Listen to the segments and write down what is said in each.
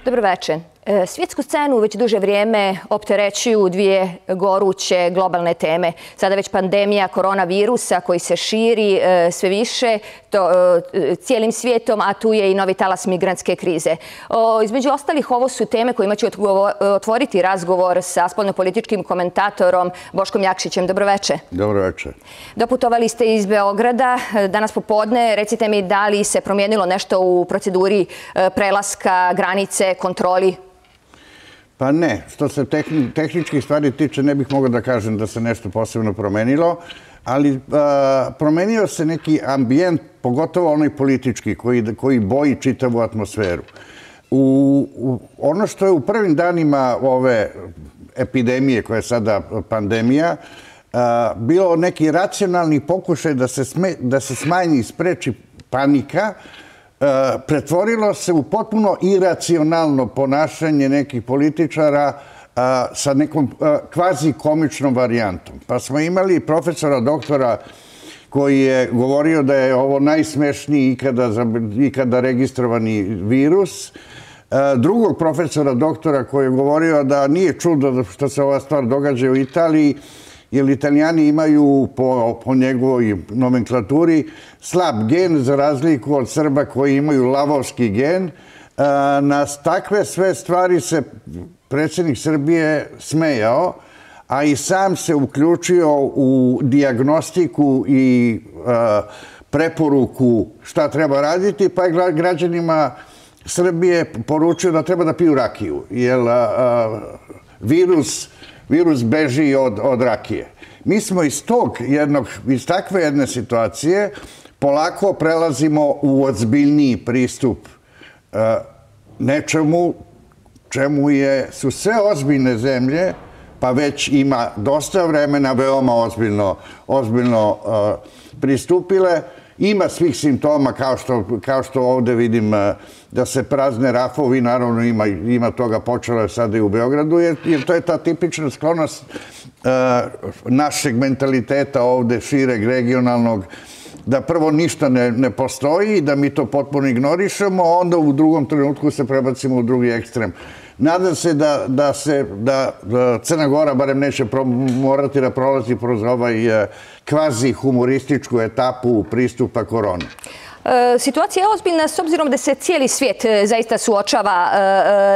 Dobro veče. Svjetsku scenu već duže vrijeme opterećuju dvije goruće globalne teme. Sada već pandemija koronavirusa koji se širi sve više cijelim svijetom, a tu je i novi talas migrantske krize. Između ostalih, ovo su teme kojima ću otvoriti razgovor sa spoljnopolitičkim komentatorom Boškom Jakšićem. Dobro veče. Dobro veče. Doputovali ste iz Beograda danas popodne. Recite mi, da li se promijenilo nešto u proceduri prelaska granice, kontroli? Pa ne. Što se tehničkih stvari tiče, ne bih mogao da kažem da se nešto posebno promenilo, ali promenio se neki ambijent, pogotovo onaj politički, koji boji čitavu atmosferu. Ono što je u prvim danima ove epidemije, koja je sada pandemija, bilo neki racionalni pokušaj da se smanji i spreči panika, pretvorilo se u potpuno iracionalno ponašanje nekih političara sa nekom kvazi-komičnom varijantom. Pa smo imali profesora doktora koji je govorio da je ovo najsmešniji ikada registrovani virus, drugog profesora doktora koji je govorio da nije čudo što se ova stvar događa u Italiji, jer Italijani imaju po njegovoj nomenklaturi slab gen za razliku od Srba koji imaju lavovski gen. Na takve sve stvari se predsjednik Srbije smejao, a i sam se uključio u dijagnostiku i preporuku šta treba raditi, pa je građanima Srbije poručio da treba da piju rakiju, jer virus beži od rakije. Mi smo iz takve jedne situacije polako prelazimo u ozbiljniji pristup nečemu čemu su sve ozbiljne zemlje, pa već ima dosta vremena, veoma ozbiljno pristupile. Ima svih simptoma, kao što ovdje vidim da se prazne rafovi, naravno ima toga, počelo je sada i u Beogradu, jer to je ta tipična sklonost našeg mentaliteta ovdje, šireg, regionalnog, da prvo ništa ne postoji, da mi to potpuno ignorišemo, a onda u drugom trenutku se prebacimo u drugi ekstrem. Nadam se da Crna Gora barem neće morati da prolazi kroz ovaj kvazi humorističku etapu pristupa koroni. Situacija je ozbiljna s obzirom da se cijeli svijet zaista suočava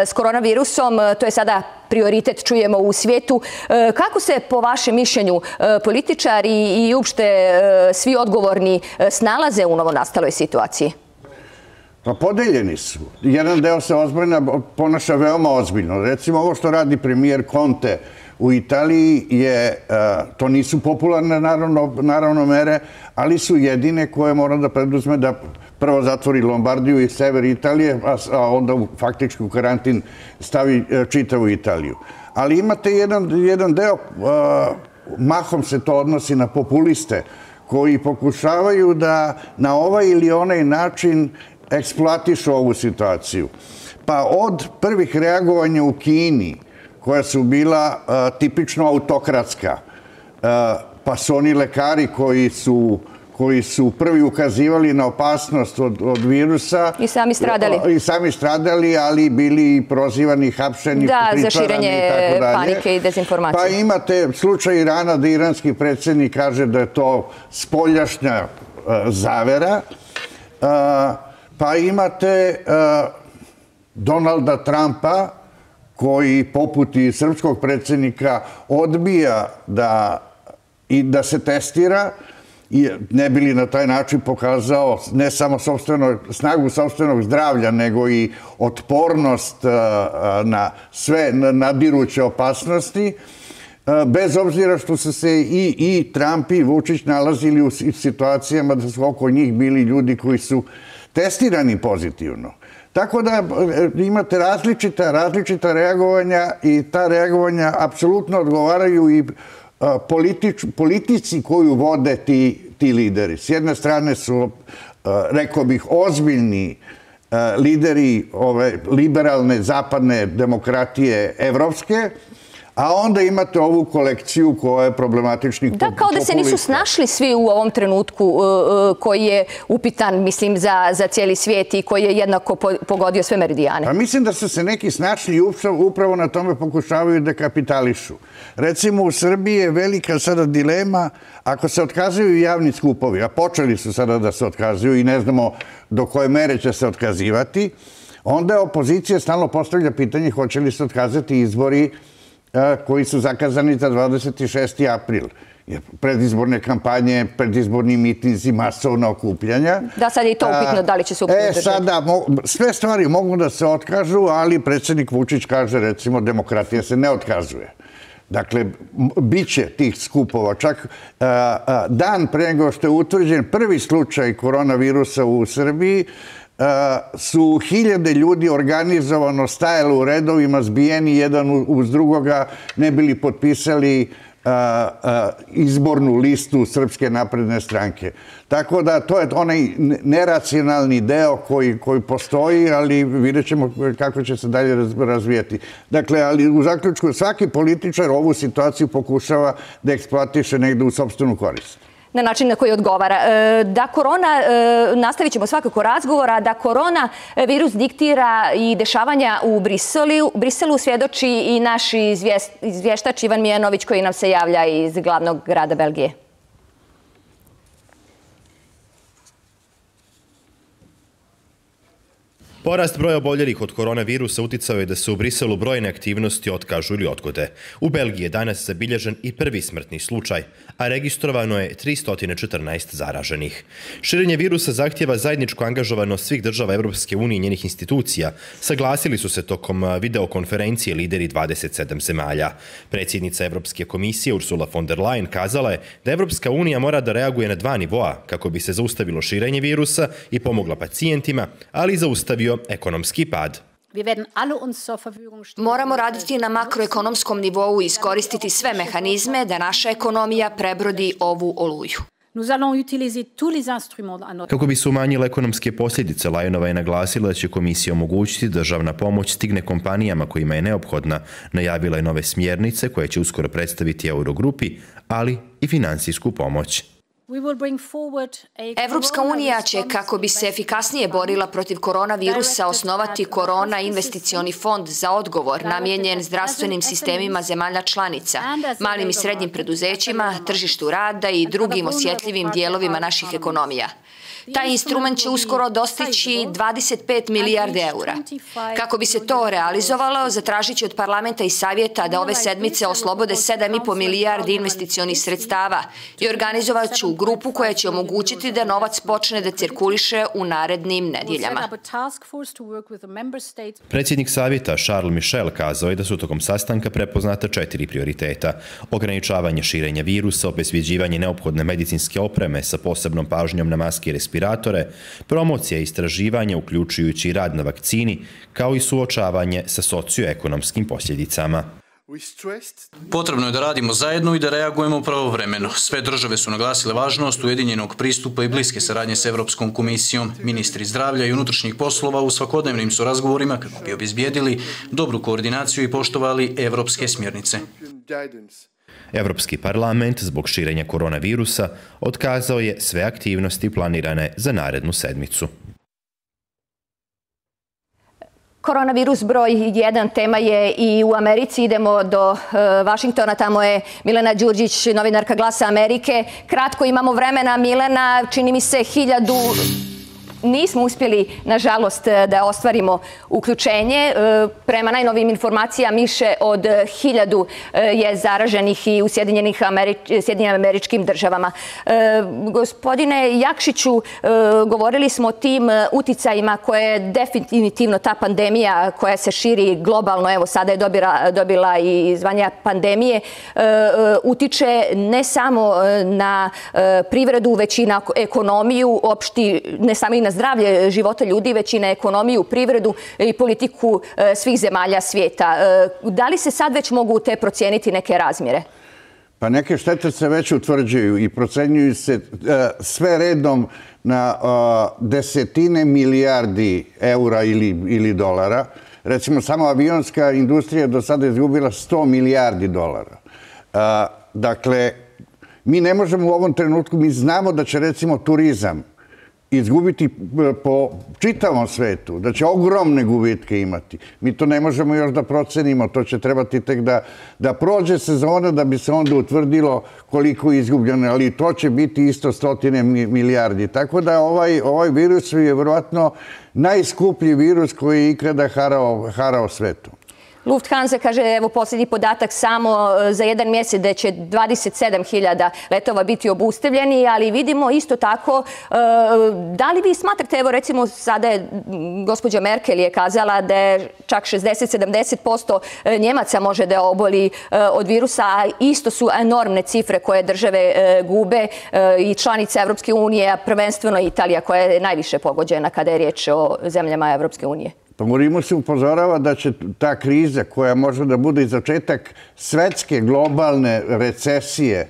s koronavirusom. To je sada prioritet, čujemo, u svijetu. Kako se, po vašem mišljenju, političari i uopšte svi odgovorni snalaze u novonastaloj situaciji? Pa podeljeni su. Jedan deo se ponaša veoma ozbiljno. Recimo, ovo što radi premijer Conte u Italiji, to nisu popularne naravno mere, ali su jedine koje mora da preduzme da prvo zatvori Lombardiju i sever Italije, a onda faktički u karantin stavi čitavu Italiju. Ali imate jedan deo, mahom se to odnosi na populiste, koji pokušavaju da na ovaj ili onaj način eksploatišu ovu situaciju. Pa od prvih reagovanja u Kini, koja su bila tipično autokratska, pa su oni lekari koji su prvi ukazivali na opasnost od virusa. I sami stradali. I sami stradali, ali bili prozivani, hapšeni, pritvarani i tako dalje. Da, za širenje panike i dezinformacije. Pa imate slučaj Irana da iranski predsjednik kaže da je to spoljašnja zavera. Pa imate Donalda Trumpa, koji poput i srpskog predsjednika odbija da se testira, ne bi li na taj način pokazao ne samo snagu sopstvenog zdravlja, nego i otpornost na sve nadiruće opasnosti, bez obzira što su se i Trump i Vučić nalazili u situacijama da su oko njih bili ljudi koji su testirani pozitivno. Tako da imate različita reagovanja i ta reagovanja apsolutno odgovaraju i politici koju vode ti lideri. S jedne strane su, rekao bih, ozbiljni lideri ove liberalne zapadne demokratije evropske, A onda imate ovu kolekciju koja je problematičnih populista. Da, kao da se nisu snašli svi u ovom trenutku koji je upitan, mislim, za cijeli svijet i koji je jednako pogodio sve meridijane. Pa mislim da su se neki snašli i upravo na tome pokušavaju da kapitališu. Recimo, u Srbiji je velika sada dilema ako se otkazuju javni skupovi, a počeli su sada da se otkazuju i ne znamo do koje mere će se otkazivati, onda opozicija stalno postavlja pitanje hoće li se otkazati izbori koji su zakazani za 26. april. Predizborne kampanje, predizborni mitinzi, masovna okupljanja. Da, sad je i to upitno da li će se upitno sada, sve stvari mogu da se otkažu, ali predsjednik Vučić kaže, recimo, demokratija se ne otkazuje. Dakle, bit će tih skupova. Čak dan pre nego što je utvrđen prvi slučaj koronavirusa u Srbiji, su hiljade ljudi organizovano stajali u redovima, zbijeni jedan uz drugoga, ne bili potpisali izbornu listu Srpske napredne stranke. Tako da to je onaj neracionalni deo koji postoji, ali vidjet ćemo kako će se dalje razvijati. Dakle, ali u zaključku svaki političar ovu situaciju pokušava da eksploatiše negde u sopstvenu korist. Na način na koji odgovara. Da korona, nastavit ćemo svakako razgovora, da korona virus diktira i dešavanja u Briselu svjedoči i naš izvještač Ivan Mijanović koji nam se javlja iz glavnog grada Belgije. Porast broja oboljelih od koronavirusa uticao je da se u Briselu brojne aktivnosti otkažu ili odgode. U Belgiji je danas zabilježen i prvi smrtni slučaj, a registrovano je 314 zaraženih. Širenje virusa zahtjeva zajedničku angažovanost svih država Evropske unije i njenih institucija. Saglasili su se tokom videokonferencije lideri 27 zemalja. Predsjednica Evropske komisije Ursula von der Leyen kazala je da Evropska unija mora da reaguje na dva nivoa kako bi se zaustavilo širenje virusa i pomogla pacijentima, ali i zaustavio ekonomski pad. Moramo raditi na makroekonomskom nivou i iskoristiti sve mehanizme da naša ekonomija prebrodi ovu oluju. Kako bi se umanjile ekonomske posljedice, Lajonova je naglasila da će komisija omogućiti da državna pomoć stigne kompanijama kojima je neophodna. Najavila je nove smjernice koje će uskoro predstaviti Eurogrupi, ali i finansijsku pomoć. Evropska unija će, kako bi se efikasnije borila protiv koronavirusa, osnovati Korona investicioni fond za odgovor namijenjen zdravstvenim sistemima zemalja članica, malim i srednjim preduzećima, tržištu rada i drugim osjetljivim dijelovima naših ekonomija. Taj instrument će uskoro dostići 25 milijarde eura. Kako bi se to realizovalo, zatražit će od parlamenta i savjeta da ove sedmice oslobode 7,5 milijardi investicionih sredstava i organizovat ću grupu koja će omogućiti da novac počne da cirkuliše u narednim nedjeljama. Predsjednik savjeta Charles Michel kazao je da su tokom sastanka prepoznata 4 prioriteta. Ograničavanje širenja virusa, obezbjeđivanje neophodne medicinske opreme sa posebnom pažnjom na maske i respiratore, promocija i istraživanje uključujući i rad na vakcini, kao i suočavanje sa socioekonomskim posljedicama. Potrebno je da radimo zajedno i da reagujemo pravovremeno. Sve države su naglasile važnost ujedinjenog pristupa i bliske saradnje s Evropskom komisijom. Ministri zdravlja i unutrašnjih poslova u svakodnevnim su razgovorima kako bi obezbijedili dobru koordinaciju i poštovali evropske smjernice. Evropski parlament zbog širenja koronavirusa otkazao je sve aktivnosti planirane za narednu sedmicu. Koronavirus broj 1 tema je i u Americi. Idemo do Vašingtona, tamo je Milena Đurđić, novinarka Glasa Amerike. Kratko imamo vremena, Milena, čini mi se 1000... Nismo uspjeli, nažalost, da ostvarimo uključenje. Prema najnovijim informacijama, više od 1000 je zaraženih i u Sjedinjenim Američkim Državama. Gospodine Jakšiću, govorili smo o tim uticajima koje je definitivno ta pandemija koja se širi globalno, evo sada je dobila i zvanja pandemije, utiče ne samo na privredu, već i na ekonomiju, ne samo i na zdravlje života ljudi, već i na ekonomiju, privredu i politiku svih zemalja svijeta. Da li se sad već mogu te procijeniti neke razmjere? Pa neke štete se već utvrđuju i procenjuju se sve redom na desetine milijardi eura ili dolara. Recimo, samo avionska industrija do sada izgubila $100 milijardi. Dakle, mi ne možemo u ovom trenutku, mi znamo da će recimo turizam izgubiti po čitavom svetu, da će ogromne gubitke imati. Mi to ne možemo još da procenimo, to će trebati tek da prođe sezona da bi se onda utvrdilo koliko je izgubljeno, ali to će biti isto 100 milijardi. Tako da ovaj virus je vjerojatno najskuplji virus koji je ikada harao svetu. Lufthansa kaže, evo posljednji podatak, samo za jedan mjesec da će 27.000 letova biti obustavljeni, ali vidimo isto tako, da li vi smatrate, evo recimo sada je gospođa Merkel je kazala da je čak 60-70% Njemaca može da oboli od virusa, a isto su enormne cifre koje države gube i članice Evropske unije, a prvenstveno Italija koja je najviše pogođena kada je riječ o zemljama Evropske unije. Morimo se upozorava da će ta kriza koja može da bude i začetak svetske globalne recesije,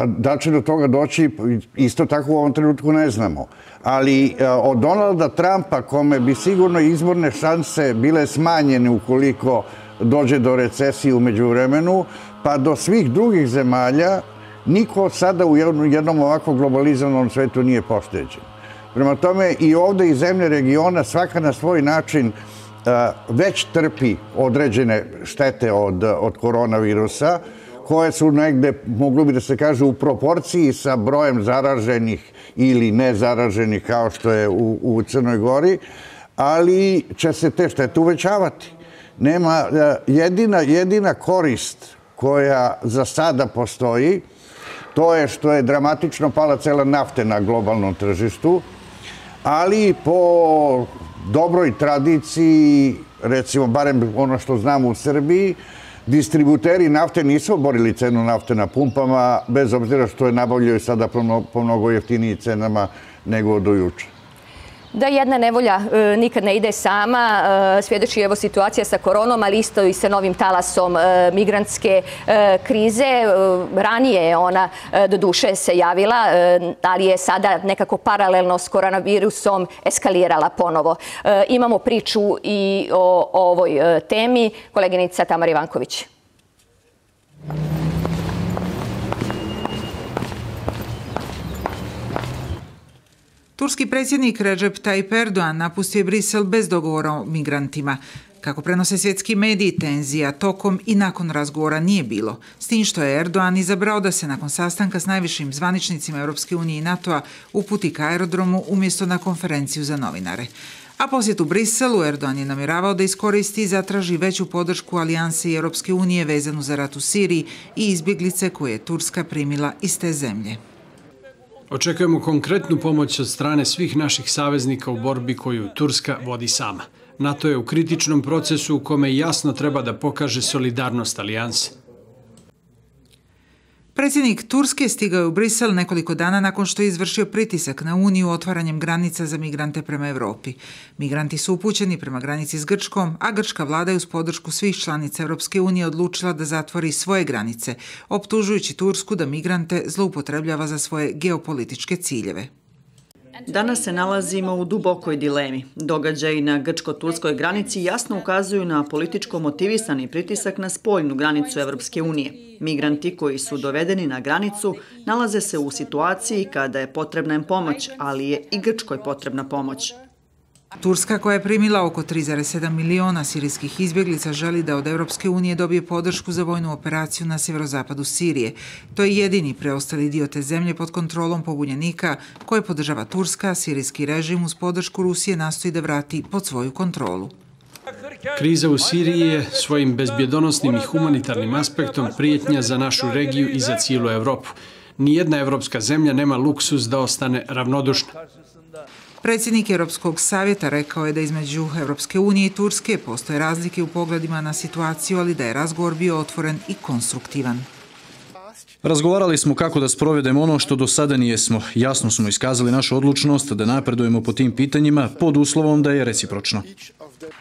da će do toga doći, isto tako u ovom trenutku ne znamo. Ali od Donalda Trumpa, kome bi sigurno izborne šanse bile smanjene ukoliko dođe do recesije u međuvremenu, pa do svih drugih zemalja, niko sada u jednom ovako globalizovanom svetu nije pošteđen. Prema tome i ovdje i zemlje regiona svaka na svoj način već trpi određene štete od koronavirusa koje su negde, moglo bi da se kaže, u proporciji sa brojem zaraženih ili nezaraženih kao što je u Crnoj Gori, ali će se te štete uvećavati. Nema jedina korist koja za sada postoji, to je što je dramatično pala cela nafte na globalnom tržištu, ali po dobroj tradiciji, recimo barem ono što znamo u Srbiji, distributeri nafte nisu oborili cenu nafte na pumpama, bez obzira što je nabavljaju sada po mnogo jeftinijim cenama nego do juče. Da jedna nevolja nikad ne ide sama, svjedoči evo situacija sa koronom, ali isto i sa novim talasom migrantske krize. Ranije je ona do duše se javila, ali je sada nekako paralelno s koronavirusom eskalirala ponovo. Imamo priču i o ovoj temi. Koleginica Tamara Ivanković. Turski predsjednik Recep Tayyip Erdogan napustio je Brisel bez dogovora o migrantima. Kako prenose svjetski mediji, tenzija tokom i nakon razgovora nije bilo. S tim što je Erdogan izabrao da se nakon sastanka s najvišim zvaničnicima Europske unije i NATO-a uputi ka aerodromu umjesto na konferenciju za novinare. A posjet u Briselu Erdogan je namjeravao da iskoristi i zatraži veću podršku alijanse i Europske unije vezanu za rat u Siriji i izbjeglice koje je Turska primila iz te zemlje. Očekujemo konkretnu pomoć od strane svih naših saveznika u borbi koju Turska vodi sama. NATO je u kritičnom procesu u kome jasno treba da pokaže solidarnost alijanse. Predsjednik Turske stigao je u Brisel nekoliko dana nakon što je izvršio pritisak na Uniju otvaranjem granica za migrante prema Evropi. Migranti su upućeni prema granici s Grčkom, a grčka vlada je uz podršku svih članica Europske unije odlučila da zatvori svoje granice, optužujući Tursku da migrante zloupotrebljava za svoje geopolitičke ciljeve. Danas se nalazimo u dubokoj dilemi. Događaji na grčko-turskoj granici jasno ukazuju na političko motivisani pritisak na spoljnu granicu Evropske unije. Migranti koji su dovedeni na granicu nalaze se u situaciji kada je potrebna im pomoć, ali je i Grčkoj potrebna pomoć. Turska, koja je primila oko 3,7 miliona sirijskih izbjeglica, želi da od Europske unije dobije podršku za vojnu operaciju na sjeverozapadu Sirije. To je jedini preostali dio te zemlje pod kontrolom pobunjenika koje podržava Turska, sirijski režim uz podršku Rusije nastoji da vrati pod svoju kontrolu. Kriza u Siriji je svojim bezbjedonosnim i humanitarnim aspektom prijetnja za našu regiju i za cijelu Evropu. Nijedna evropska zemlja nema luksuz da ostane ravnodušna. Predsjednik Europskog savjeta rekao je da između Europske unije i Turske postoje razlike u pogledima na situaciju, ali da je razgovor bio otvoren i konstruktivan. Razgovarali smo kako da sprovedemo ono što do sada nijesmo. Jasno smo iskazali našu odlučnost da napredujemo po tim pitanjima pod uslovom da je recipročno.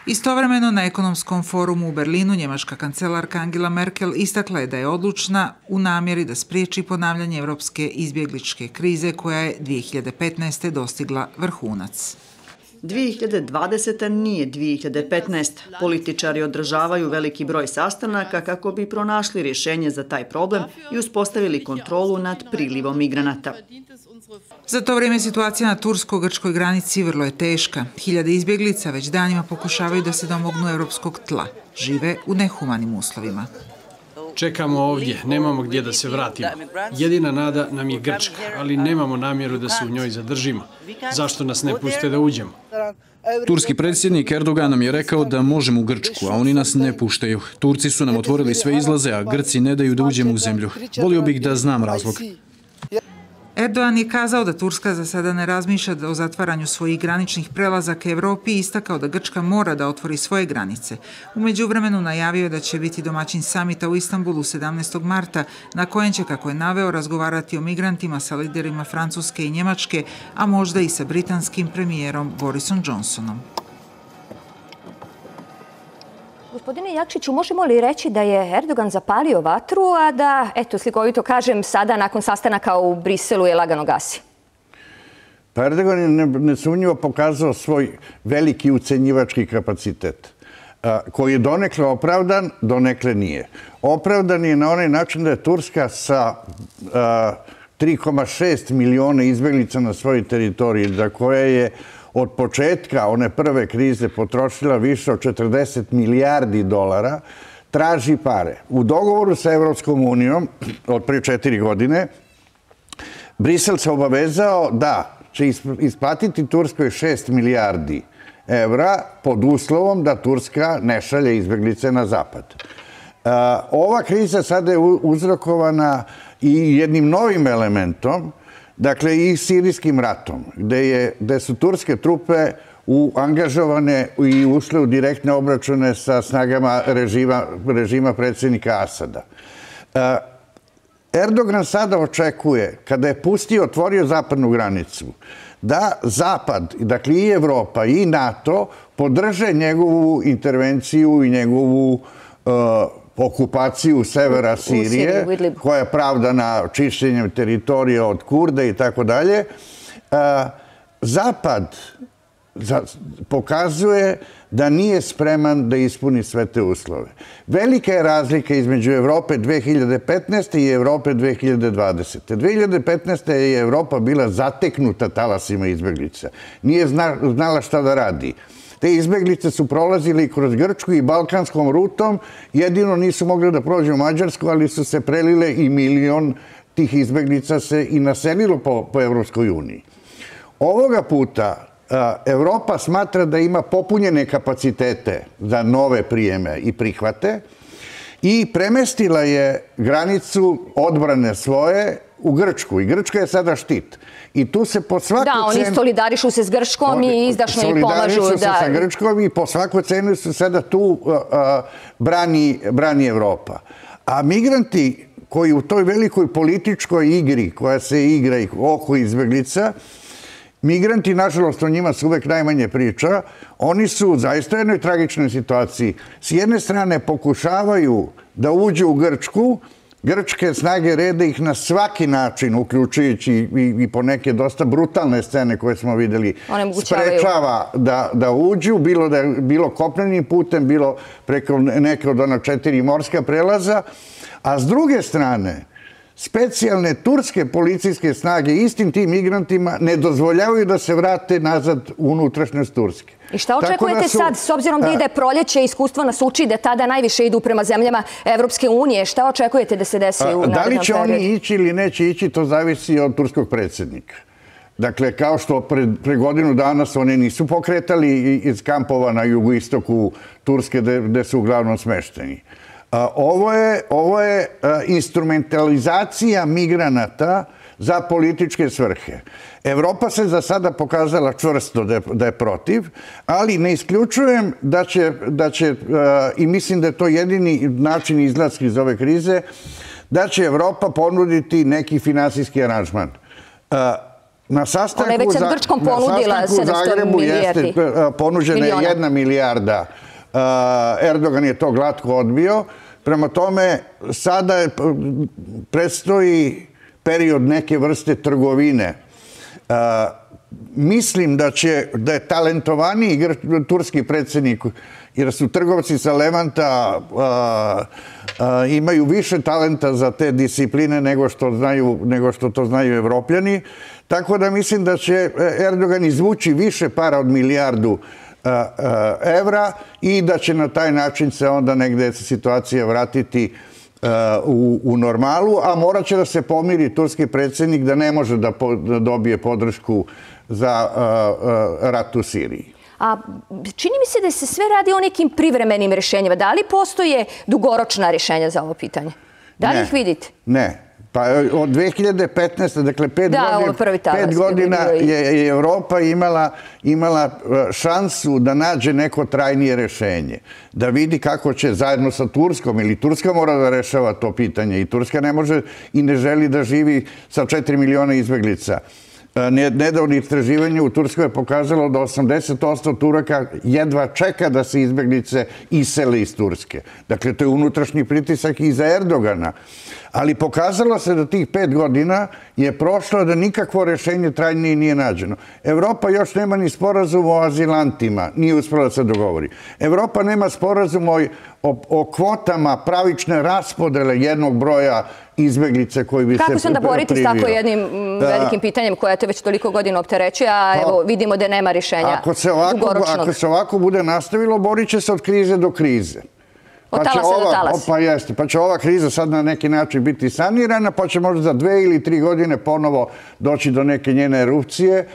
Istovremeno na ekonomskom forumu u Berlinu njemačka kancelarka Angela Merkel istakla je da je odlučna u namjeri da spriječi ponavljanje evropske izbjegličke krize koja je 2015. dostigla vrhunac. 2020. nije 2015. Političari održavaju veliki broj sastanaka kako bi pronašli rješenje za taj problem i uspostavili kontrolu nad prilivom migranata. Za to vrijeme situacija na tursko-grčkoj granici vrlo je teška. Hiljade izbjeglica već danima pokušavaju da se domognu evropskog tla. Žive u nehumanim uslovima. Čekamo ovdje, nemamo gdje da se vratimo. Jedina nada nam je Grčka, ali nemamo namjeru da se u njoj zadržimo. Zašto nas ne puste da uđemo? Turski predsjednik Erdogan nam je rekao da možemo u Grčku, a oni nas ne puštaju. Turci su nam otvorili sve izlaze, a Grci ne daju da uđemo u zemlju. Volio bih da znam razlog. Erdogan je kazao da Turska za sada ne razmišlja o zatvaranju svojih graničnih prelaza ka Evropi i istakao da Grčka mora da otvori svoje granice. U međuvremenu najavio je da će biti domaćin samita u Istanbulu 17. marta, na kojem će, kako je naveo, razgovarati o migrantima sa liderima Francuske i Njemačke, a možda i sa britanskim premijerom Borisom Johnsonom. Gospodine Jakšiću, možemo li reći da je Erdogan zapalio vatru, a da, eto, slikovito kažem, sada nakon sastanaka u Briselu je lagano gasi? Pa Erdogan je nesumnjivo pokazao svoj veliki ucenjivački kapacitet, koji je donekle opravdan, donekle nije. Opravdan je na onaj način da je Turska sa 3,6 miliona izbjeglica na svojoj teritoriji, za koje je od početka one prve krize potrošila više od 40 milijardi dolara, traži pare. U dogovoru sa Evropskom unijom od prije 4 godine, Brisel se obavezao da će isplatiti Turskoj 6 milijardi evra pod uslovom da Turska ne šalje izbjeglice na zapad. Ova kriza sada je uzrokovana i jednim novim elementom, dakle i sirijskim ratom, gde su turske trupe angažovane i ušle u direktne obračune sa snagama režima predsjednika Asada. Erdogan sada očekuje, kada je otvorio zapadnu granicu, da Zapad, dakle i Evropa i NATO, podrže njegovu intervenciju i njegovu okupaciju severa Sirije, koja je pravdana čišćenjem teritorija od Kurda i tako dalje. Zapad pokazuje da nije spreman da ispuni sve te uslove. Velika je razlika između Evrope 2015. i Evrope 2020. 2015. je Evropa bila zateknuta talasima izbjeglica. Nije znala šta da radi. Te izbjeglice su prolazili kroz Grčku i balkanskom rutom, jedino nisu mogli da prođu u Mađarsku, ali su se prelile i milion tih izbjeglica se i naselilo po Evropskoj uniji. Ovoga puta Evropa smatra da ima popunjene kapacitete za nove prijeme i prihvate i premestila je granicu odbrane svoje u Grčku. I Grčka je sada štit. I tu se po svaku cenu... Da, oni solidarišu se s Grčkom i izdašno im pomažu. Solidarišu se sa Grčkom i po svaku cenu su sada tu brani Evropa. A migranti koji u toj velikoj političkoj igri koja se igra oko izbjeglica, migranti, nažalost, o njima se uvek najmanje priča, oni su zaista u jednoj tragičnoj situaciji. S jedne strane pokušavaju da uđu u Grčku, grčke snage reda ih na svaki način, uključujući i po neke dosta brutalne scene koje smo vidjeli, sprečava da uđu, bilo kopnenim putem, bilo preko neke od ona 4 morska prelaza, a s druge strane, specijalne turske policijske snage istim tim migrantima ne dozvoljavaju da se vrate nazad u unutrašnjost Turske. I šta očekujete sad, s obzirom da ide proljeće, iskustvo nas uči da tada najviše idu prema zemljama Evropske unije, šta očekujete da se desi u narednom periodu? Da li će oni ići ili neće ići, to zavisi od turskog predsjednika. Dakle, kao što pre godinu dana oni nisu pokretali iz kampova na jugoistoku Turske gde su uglavnom smešteni. Ovo je instrumentalizacija migranata za političke svrhe. Evropa se za sada pokazala čvrsto da je protiv, ali ne isključujem da će, i mislim da je to jedini način izlaska iz ove krize, da će Evropa ponuditi neki finansijski aranžman. Na sastanku u Zagrebu jeste ponuđena je 1 milijarda. Erdogan je to glatko odbio. Prema tome, sada predstoji period neke vrste trgovine. mislim da je talentovaniji turski predsjednik, jer su trgovci sa Levanta imaju više talenta za te discipline nego što to znaju Evropljani. Tako da mislim da će Erdogan izvući više para od milijardu evra i da će na taj način se onda negde situacija vratiti u normalu, a morat će da se pomiri turski predsjednik da ne može da dobije podršku za rat u Siriji. A čini mi se da se sve radi o nekim privremenim rješenjima. Da li postoje dugoročna rješenja za ovo pitanje? Da li ih vidite? Ne. Pa od 2015. dakle 5 godina je Evropa imala šansu da nađe neko trajnije rešenje. Da vidi kako će zajedno sa Turskom, ili Turska mora da rešava to pitanje i Turska ne može i ne želi da živi sa 4 miliona izbeglica. Nedavno istraživanje u Turskoj je pokazalo da 80% Turaka jedva čeka da se izbeglice isele iz Turske. Dakle, to je unutrašnji pritisak i za Erdogana. Ali pokazalo se da tih 5 godina je prošlo da nikakvo rešenje trajnije nije nađeno. Evropa još nema ni sporazum o azilantima, nije uspela da se dogovori. Evropa nema sporazum o kvotama pravične raspodele jednog broja izbeglice koji bi se Kako se onda boriti s tako jednim velikim pitanjem koje te već toliko godina opterećuje, a evo vidimo da nema rješenja dugoročnog? Ako se ovako bude nastavilo, borit će se od krize do krize. Od talasa do talasa. Pa jeste, pa će ova kriza sad na neki način biti sanirana, pa će možda za 2 ili 3 godine ponovo doći do neke njene erupcije.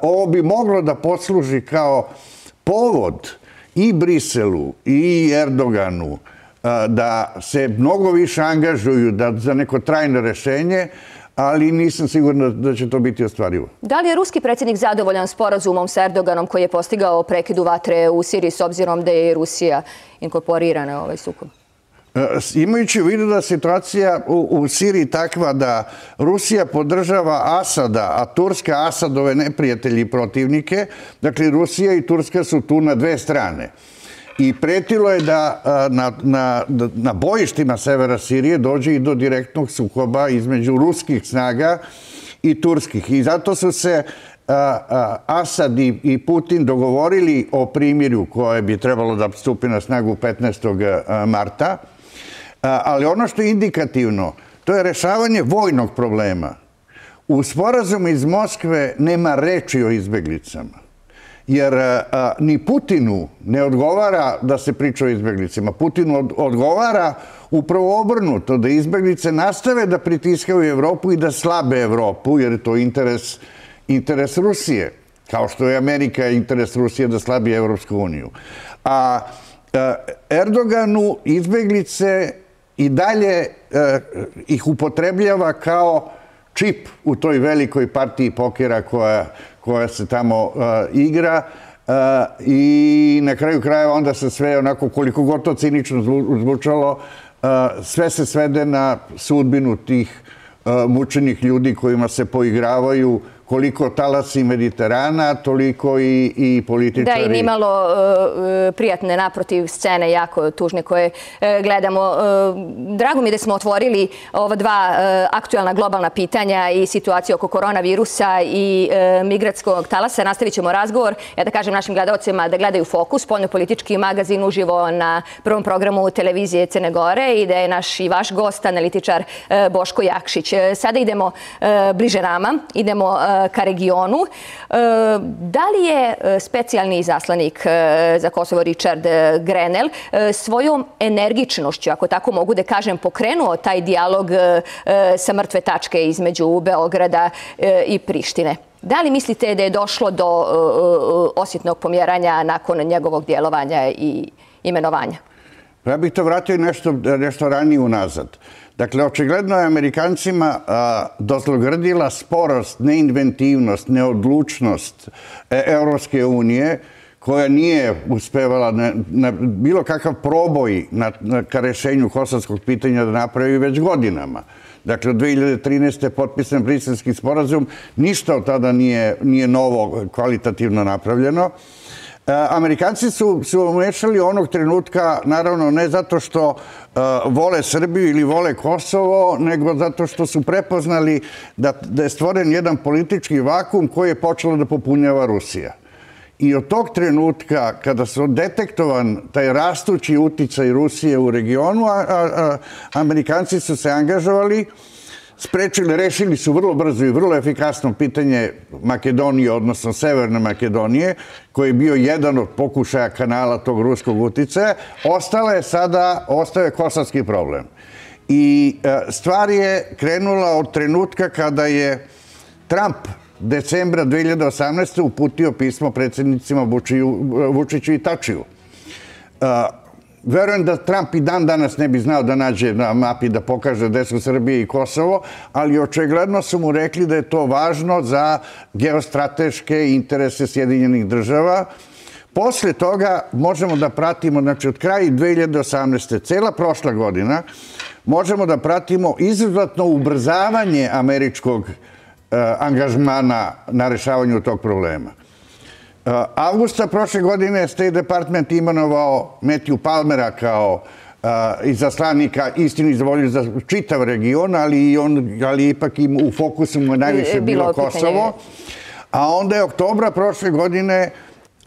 Ovo bi moglo da posluži kao povod i Briselu i Erdoganu da se mnogo više angažuju za neko trajno rešenje, ali nisam siguran da će to biti ostvarivo. Da li je ruski predsjednik zadovoljan sporazumom sa Erdoganom koji je postigao prekidu vatre u Siriji s obzirom da je Rusija inkorporirana u ovaj sukob? Imajući u vidu da situacija u Siriji takva da Rusija podržava Asada, a Turska Asadove neprijatelji i protivnike, dakle Rusija i Turska su tu na dve strane. I pretilo je da na bojištima severa Sirije dođe i do direktnog sukoba između ruskih snaga i turskih. I zato su se Asad i Putin dogovorili o primirju koje bi trebalo da stupi na snagu 15. marta. Ali ono što je indikativno, to je rešavanje vojnog problema. U sporazumu iz Moskve nema reči o izbeglicama. Jer ni Putinu ne odgovara da se priča o izbeglicama. Putinu odgovara upravo obrnuto, da izbeglice nastave da pritiskaju Evropu i da slabe Evropu, jer je to interes Rusije. Kao što je Amerika interes Rusije da slabi Evropsku uniju. A Erdoganu izbeglice i dalje ih upotrebljava kao čip u toj velikoj partiji pokera koja se tamo igra i na kraju krajeva onda se sve onako, koliko god to cinično zvučalo, sve se svede na sudbinu tih mučenih ljudi kojima se poigravaju, koliko talasi Mediterana, toliko i političari. Da, i nimalo prijatne, naprotiv, scene jako tužne koje gledamo. Drago mi je da smo otvorili ova dva aktualna globalna pitanja i situaciju oko koronavirusa i migratskog talasa. Nastavit ćemo razgovor. Ja da kažem našim gledalcima da gledaju Fokus, spoljnopolitički magazin uživo na prvom programu televizije Crne Gore i da je naš i vaš gost, analitičar Boško Jakšić. Sada idemo bliže nama, idemo ka regionu. Da li je specijalni izaslanik za Kosovo Richard Grenell svojom energičnošću, ako tako mogu da kažem, pokrenuo taj dijalog sa mrtve tačke između Beograda i Prištine? Da li mislite da je došlo do osjetnog pomjeranja nakon njegovog djelovanja i imenovanja? Ja bih to vratio nešto ranije unazad. Dakle, očigledno je Amerikancima dozlogrdila sporost, neinventivnost, neodlučnost Evropske unije, koja nije uspevala na bilo kakav proboj ka rešenju kosovskog pitanja da napravi već godinama. Dakle, od 2013. potpisan Briselski sporazum, ništa od tada nije novo kvalitativno napravljeno. Amerikanci su umešali onog trenutka, naravno ne zato što vole Srbiju ili vole Kosovo, nego zato što su prepoznali da je stvoren jedan politički vakum koji je počelo da popunjava Rusija. I od tog trenutka, kada su detektovan taj rastući uticaj Rusije u regionu, Amerikanci su se angažovali, rešili su vrlo brzo i vrlo efikasno pitanje Makedonije, odnosno Severne Makedonije, koji je bio jedan od pokušaja kanala tog ruskog uticaja. Ostao je kosovski problem. I stvar je krenula od trenutka kada je Trump decembra 2018. uputio pismo predsjednicima Vučiću i Tačiju. Verujem da Trump i dan danas ne bi znao da nađe na mapi da pokaže gde su Srbije i Kosovo, ali očigledno su mu rekli da je to važno za geostrateške interese Sjedinjenih država. Posle toga možemo da pratimo, znači od kraja 2018. cela prošla godina, možemo da pratimo izuzetno ubrzavanje američkog angažmana na rešavanju tog problema. Avgusta prošle godine State Department imenovao Matthew Palmera kao izaslanika istini za volju za čitav region, ali ipak u fokusu mu je najviše bilo Kosovo. A onda je oktobra prošle godine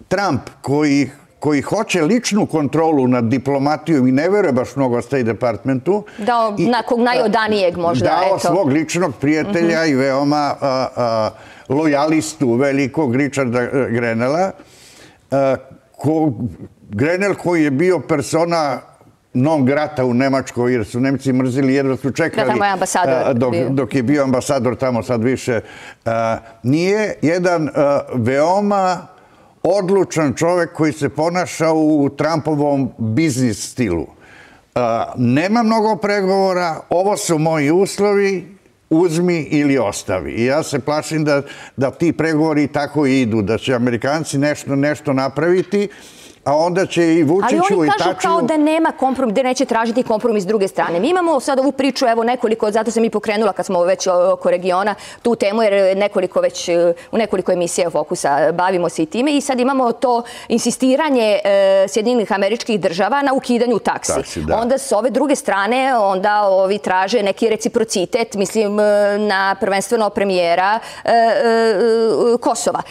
Trump, koji hoće ličnu kontrolu nad diplomatijom i ne veruje baš mnogo State Departmentu. Dao nakog najodanijeg možda. Dao svog ličnog prijatelja i veoma lojalistu velikog Richarda Grenella. Grenell koji je bio persona non grata u Nemačkoj, jer su Nemci mrzili, jedva su čekali dok je bio ambasador tamo, sad više nije. Jedan veoma odlučan čovek koji se ponaša u Trumpovom biznis stilu. Nema mnogo pregovora, ovo su moji uslovi, uzmi ili ostavi. I ja se plašim da ti pregovori tako i idu, da će Amerikanci nešto napraviti, a onda će i Vučiću i Tačiju... Ali oni kažu kao da nema kompromis, da neće tražiti kompromis s druge strane. Mi imamo sad ovu priču, evo nekoliko, zato sam i pokrenula kad smo već oko regiona tu temu, jer u nekoliko emisija Fokusa bavimo se i time i sad imamo to insistiranje Sjedinjenih Američkih Država na ukidanju taksi. Onda s ove druge strane, onda ovi traže neki reciprocitet, mislim na prvenstveno premijera Kosova.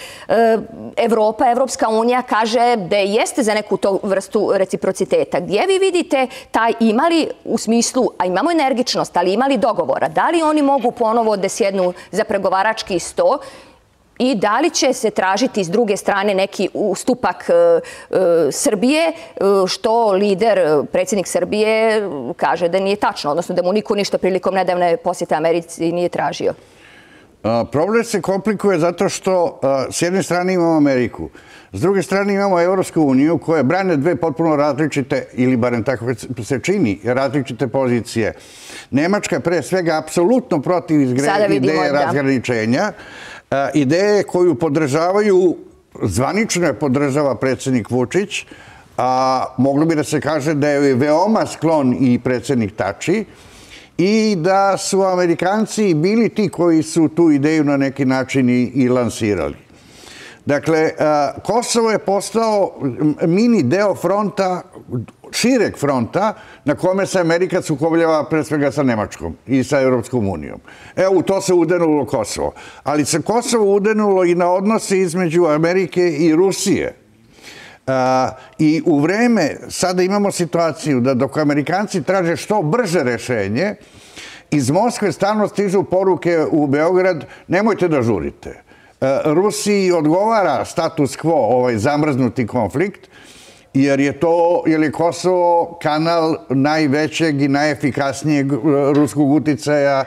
Evropa, Evropska unija kaže da jeste za neku to vrstu reciprociteta. Gdje vi vidite taj imali u smislu, a imamo energičnost, ali imali dogovora, da li oni mogu ponovo da sjednu za pregovarački sto i da li će se tražiti s druge strane neki ustupak Srbije, što lider, predsjednik Srbije, kaže da nije tačno, odnosno da mu niko ništa prilikom nedavne posjete Americi nije tražio? Problem se komplikuje zato što s jedne strane imamo Ameriku, s druge strane imamo Evropsku uniju koja brane dve potpuno različite, ili barem tako se čini, različite pozicije. Nemačka pre svega apsolutno protiv ideje razgraničenja, ideje koju podržavaju, zvanično je podržava predsjednik Vučić, a moglo bi da se kaže da je veoma sklon i predsjednik Tači, i da su Amerikanci bili ti koji su tu ideju na neki način i lansirali. Dakle, Kosovo je postao mini deo fronta, šireg fronta, na kome se Amerika sukobljava pre svega sa Nemačkom i sa Evropskom unijom. Evo, u to se udenulo Kosovo. Ali se Kosovo udenulo i na odnose između Amerike i Rusije. I u vreme, sada imamo situaciju da dok Amerikanci traže što brže rešenje, iz Moskve stalno stižu poruke u Beograd, nemojte da žurite. Rusiji odgovara status quo, ovaj zamrznuti konflikt, jer je Kosovo kanal najvećeg i najefikasnijeg ruskog uticaja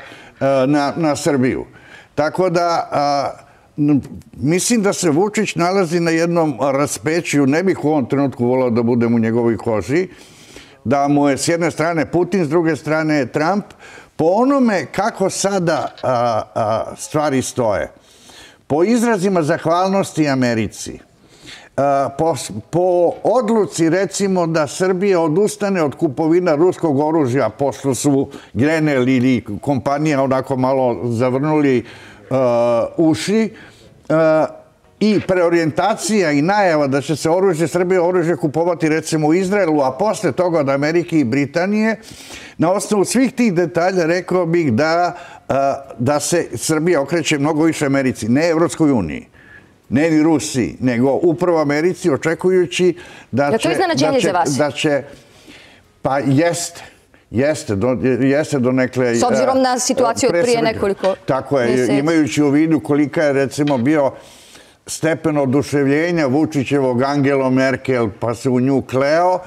na Srbiju. Tako da mislim da se Vučić nalazi na jednom raspeću, ne bih u ovom trenutku volao da budem u njegovoj koži, da mu je s jedne strane Putin, s druge strane Trump, po onome kako sada stvari stoje. Po izrazima zahvalnosti Americi, po odluci recimo da Srbija odustane od kupovina ruskog oružja, pošto su Grenell ili kompanija onako malo zavrnuli uši, i preorijentacija i najava da će se Srbije oružje kupovati recimo u Izraelu, a posle toga od Amerike i Britanije, na osnovu svih tih detalja rekao bih da se Srbija okreće mnogo više Americi, ne Evropskoj uniji, ne ni Rusiji, nego upravo Americi, očekujući da će... Pa jeste donekle... S obzirom na situaciju od prije nekoliko mjeseci. Tako je, imajući u vidu kolika je recimo bio stepen oduševljenja Vučićevog Angelom Merkel, pa se u nju kleo.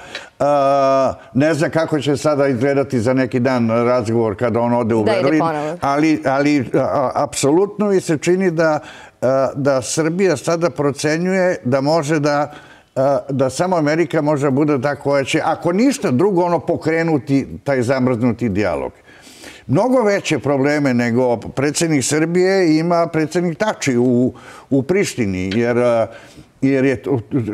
Ne znam kako će sada izgledati za neki dan razgovor kada on ode u Berlin, ali apsolutno mi se čini da Srbija sada procenjuje da može da samo Amerika može da bude ta koja će, ako ništa drugo, pokrenuti taj zamrznuti dijalog. Mnogo veće probleme nego predsjednik Srbije ima predsjednik Tači u Prištini, jer je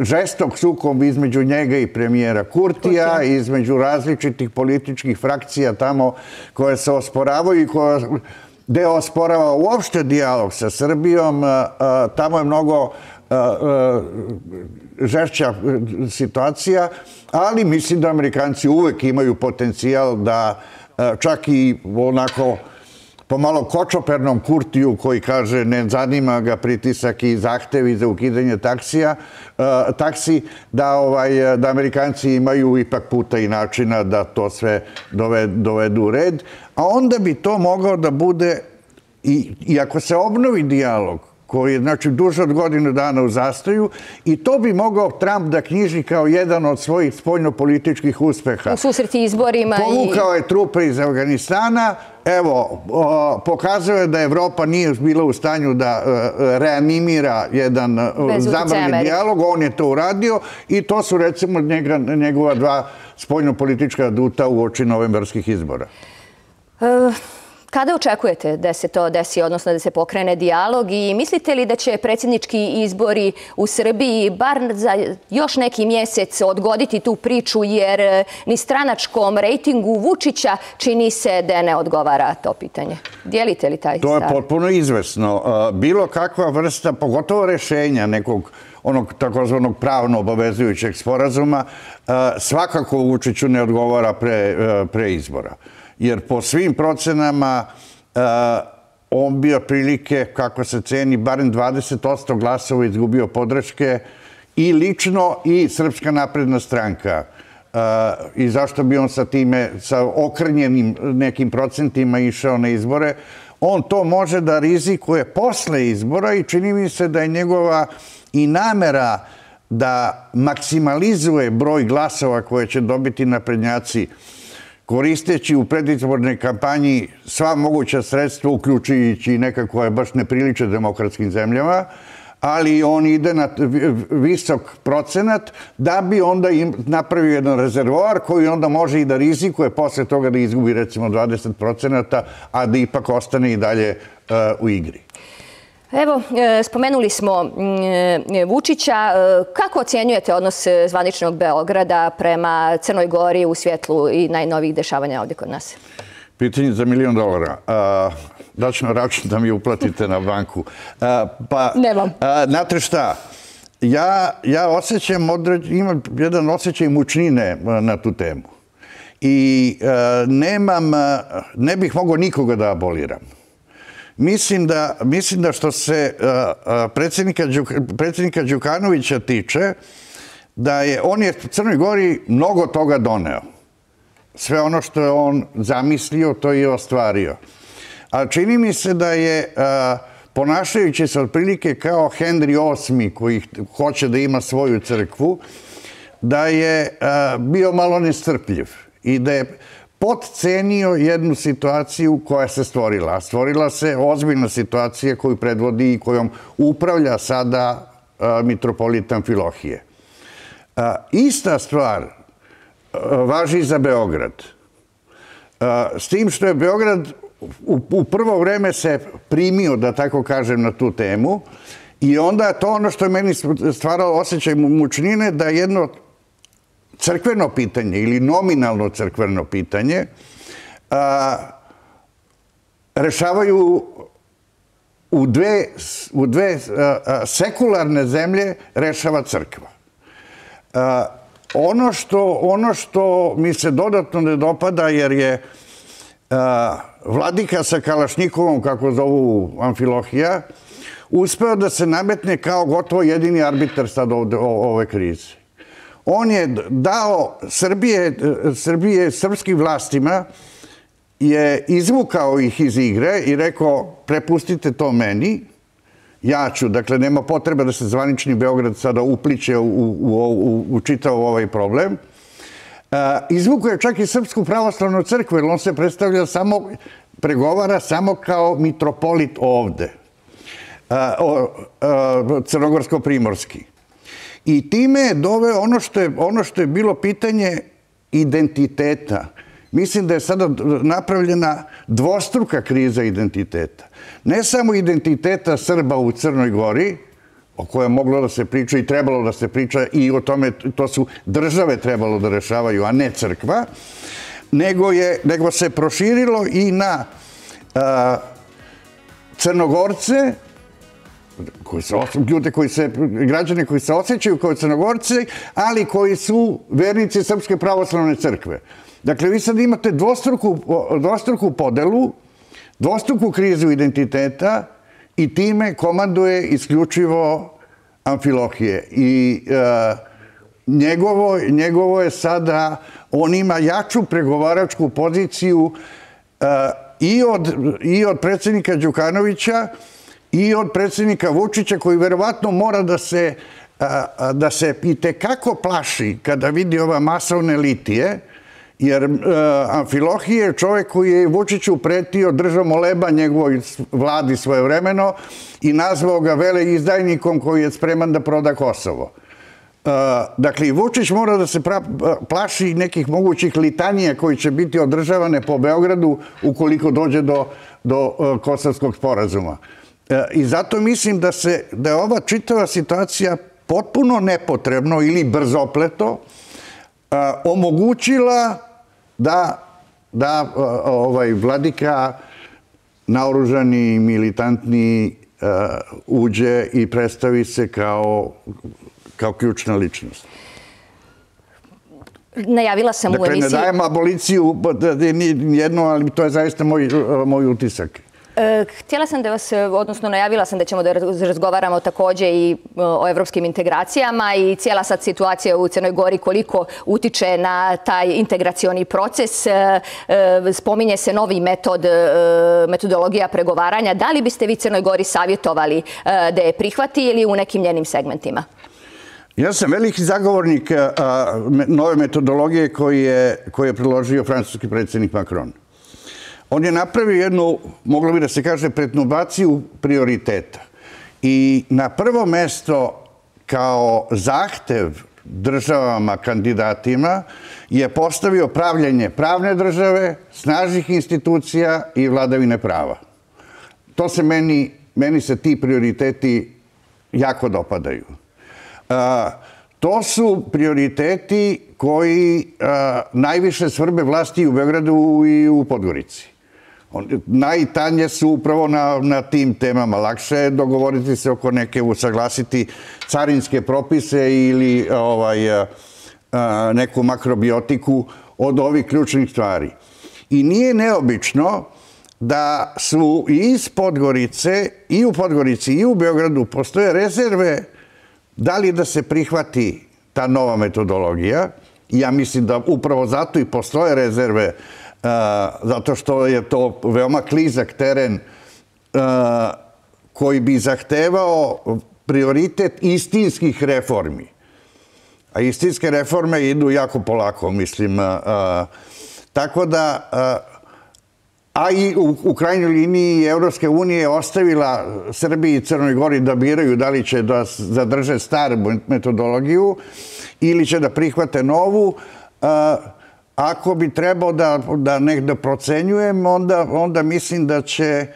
žestok sukob između njega i premijera Kurtija, između različitih političkih frakcija tamo koje se osporavaju i gde osporava uopšte dijalog sa Srbijom. Tamo je mnogo žešća situacija, ali mislim da Amerikanci uvek imaju potencijal da čak i onako pomalo kočopernom Kurtiju koji kaže ne zanima ga pritisak i zahtevi za ukidanje taksi, da Amerikanci imaju ipak puta i načina da to sve dovedu u red, a onda bi to mogao da bude, i ako se obnovi dijalog, koji je, znači, duže od godinu dana u zastoju, i to bi mogao Trump da knjiži kao jedan od svojih spoljnopolitičkih uspeha. U susreti izborima. Povukao je trupe iz Afganistana, evo, pokazuje je da Evropa nije bila u stanju da reanimira jedan zamrli dijalog, on je to uradio i to su, recimo, njegova dva spoljnopolitička aduta u oči novembarskih izbora. Kada očekujete da se to desi, odnosno da se pokrene dijalog, i mislite li da će predsjednički izbori u Srbiji bar za još neki mjesec odgoditi tu priču, jer ni stranačkom rejtingu Vučića čini se da ne odgovara to pitanje? Dijelite li taj stav? To je potpuno izvesno. Bilo kakva vrsta, pogotovo rešenja nekog onog takozvanog pravno obavezujućeg sporazuma, svakako Vučiću ne odgovara pre izbora. Jer po svim procenama on bi otprilike, kako se ceni, barem 20% glasova izgubio podrške i lično i Srpska napredna stranka. I zašto bi on sa okrnjenim nekim procentima išao na izbore? On to može da rizikuje posle izbora i čini mi se da je njegova i namera da maksimalizuje broj glasova koje će dobiti naprednjaci, koristeći u predizbornoj kampanji sva moguća sredstva, uključujući i neka koja baš ne priliče demokratskim zemljama, ali on ide na visok procenat da bi onda napravio jedan rezervoar koji onda može i da rizikuje posle toga da izgubi recimo 20%, a da ipak ostane i dalje u igri. Evo, spomenuli smo Vučića. Kako ocjenjujete odnos zvaničnog Beograda prema Crnoj Gori u svjetlu i najnovijih dešavanja ovdje kod nas? Pitanje za $1.000.000. Daću na račun da mi uplatite na banku. Nemam. Znate šta, ja osjećam, imam jedan osjećaj mučnine na tu temu. I ne bih mogao nikoga da aboliram. Mislim da što se predsjednika Đukanovića tiče, da on je Crnoj Gori mnogo toga doneo. Sve ono što je on zamislio, to je ostvario. A čini mi se da je, ponašajući se otprilike kao Henry VIII, koji hoće da ima svoju crkvu, da je bio malo nestrpljiv i da je potcenio jednu situaciju koja se stvorila. A stvorila se ozbiljna situacija koju predvodi i kojom upravlja sada mitropolitan Amfilohije. Ista stvar važi za Beograd. S tim što je Beograd u prvo vreme se primio, da tako kažem, na tu temu, i onda to ono što je meni stvaralo osjećaj mučnine, da jedno crkveno pitanje ili nominalno crkveno pitanje rešavaju u dve sekularne zemlje rešava crkva. Ono što mi se dodatno ne dopada, jer je vladika sa Kalašnjikovom, kako zovu Amfilohija, uspeo da se nametne kao gotovo jedini arbitar sad ovde ove krize. On je dao srpskim vlastima, je izvukao ih iz igre i rekao prepustite to meni, ja ću, dakle nema potreba da se zvanični Beograd sada upliče u čitav ovaj problem. Izvukao je čak i Srpsku pravoslavnu crkvu, jer on se predstavlja samo, pregovara samo kao mitropolit ovde, crnogorsko-primorski. I time je doveo ono što je bilo pitanje identiteta. Mislim da je sada napravljena dvostruka kriza identiteta. Ne samo identiteta Srba u Crnoj Gori, o kojoj je moglo da se priča i trebalo da se priča i o tome, to su države trebalo da rešavaju, a ne crkva, nego se proširilo i na Crnogorce, ljude građane koji se osjećaju kao Crnogorci, ali koji su vernici Srpske pravoslavne crkve. Dakle, vi sad imate dvostruku podelu, dvostruku krizu identiteta i time komanduje isključivo Amfilohije. I njegovo je sada, on ima jaču pregovaračku poziciju i od predsjednika Đukanovića i od predsjednika Vučića, koji verovatno mora da se itekako plaši kada vidi ova masovne litije, jer Amfilohije je čovjek koji je Vučiću pretio, držao moleba njegovoj vladi svojevremeno i nazvao ga veleizdajnikom koji je spreman da proda Kosovo. Dakle, Vučić mora da se plaši nekih mogućih litanija koji će biti održavane po Beogradu ukoliko dođe do Kosovskog sporazuma. I zato mislim da je ova čitava situacija potpuno nepotrebno ili brzopleto omogućila da vladika naoružani, militantni uđe i predstavi se kao ključna ličnost. Najavila sam u emisiji... Dakle, ne dajem aboliciju jedno, ali to je zaista moj utisak. Htjela sam da vas, odnosno najavila sam da ćemo da razgovaramo također i o evropskim integracijama i cijela sad situacija u Crnoj Gori koliko utiče na taj integracioni proces. Spominje se novi metodologija pregovaranja. Da li biste vi Crnoj Gori savjetovali da je prihvati ili u nekim njenim segmentima? Ja sam veliki zagovornik nove metodologije koju je predložio francuski predsjednik Macron. On je napravio jednu, moglo bi da se kaže, pretnubaciju prioriteta. I na prvo mesto kao zahtev državama, kandidatima, je postavio pravljenje pravne države, snažnih institucija i vladavine prava. To se meni se ti prioriteti jako dopadaju. To su prioriteti koji najviše svrbe vlasti u Beogradu i u Podgorici. Najtanje su upravo na tim temama. Lakše je dogovoriti se oko neke, usaglasiti carinske propise ili neku makrobiotiku od ovih ključnih stvari. I nije neobično da su i iz Podgorice, i u Podgorici, i u Beogradu postoje rezerve da li da se prihvati ta nova metodologija. Ja mislim da upravo zato i postoje rezerve, zato što je to veoma klizak teren koji bi zahtevao prioritet istinskih reformi. A istinske reforme idu jako polako, mislim. Tako da, a i u krajnjoj liniji Evropske unije je ostavila Srbiji i Crnoj Gori da biraju da li će da zadrže staru metodologiju ili će da prihvate novu. Ako bi trebao da negde procenjujem, onda mislim da će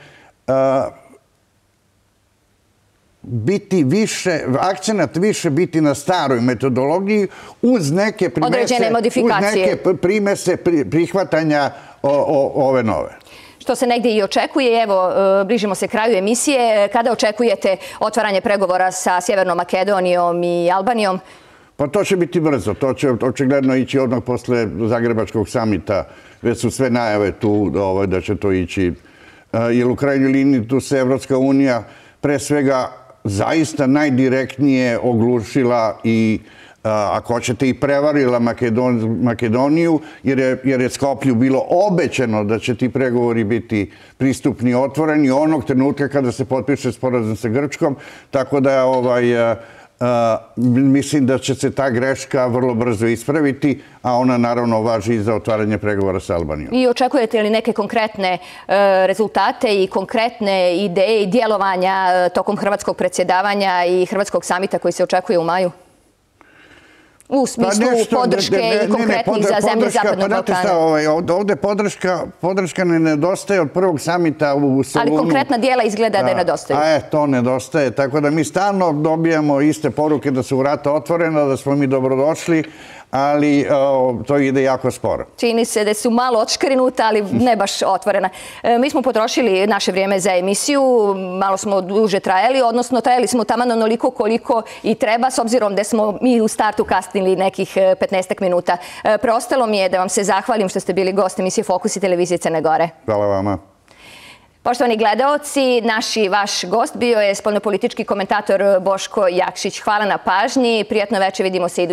biti više, akcenat više biti na staroj metodologiji uz neke primese prihvatanja ove nove. što se negdje i očekuje. Evo, bližimo se kraju emisije. Kada očekujete otvaranje pregovora sa Sjevernom Makedonijom i Albanijom? Pa to će biti brzo. To će očigledno ići odmah posle Zagrebačkog samita. Već su sve najave tu da će to ići. Jer u krajnjoj liniji tu se Evropska unija pre svega zaista najdirektnije oglušila i ako hoćete i prevarila Makedoniju, jer je Skoplju bilo obećano da će ti pregovori biti pristupni i otvoreni onog trenutka kada se potpiše sporazum sa Grčkom, tako da mislim da će se ta greška vrlo brzo ispraviti, a ona naravno važi i za otvaranje pregovora sa Albanijom. I očekujete li neke konkretne rezultate i konkretne ideje i djelovanja tokom hrvatskog predsjedavanja i hrvatskog samita koji se očekuje u maju? U smislu podrške i konkretnih za zemlje Zapadnog Balkana. Ovdje podrška ne nedostaje od prvog samita u Solunu. Ali konkretna dijela izgleda da je nedostaju. To nedostaje. Tako da mi stalno dobijamo iste poruke da su vrata otvorena, da smo mi dobrodošli, ali to ide jako sporo. Čini se da su malo odškrinuta, ali ne baš otvorena. Mi smo potrošili naše vrijeme za emisiju, malo smo duže trajali, odnosno trajali smo taman onoliko koliko i treba, s obzirom da smo mi u startu kasnili nekih 15 minuta. Preostalo mi je da vam se zahvalim što ste bili gost emisije Fokus i televizije Crne Gore. Hvala vama. Poštovani gledaoci, vaš gost bio je spoljnopolitički komentator Boško Jakšić. Hvala na pažnji, prijatno večer, vidimo se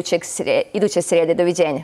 iduće srijede. Doviđenja.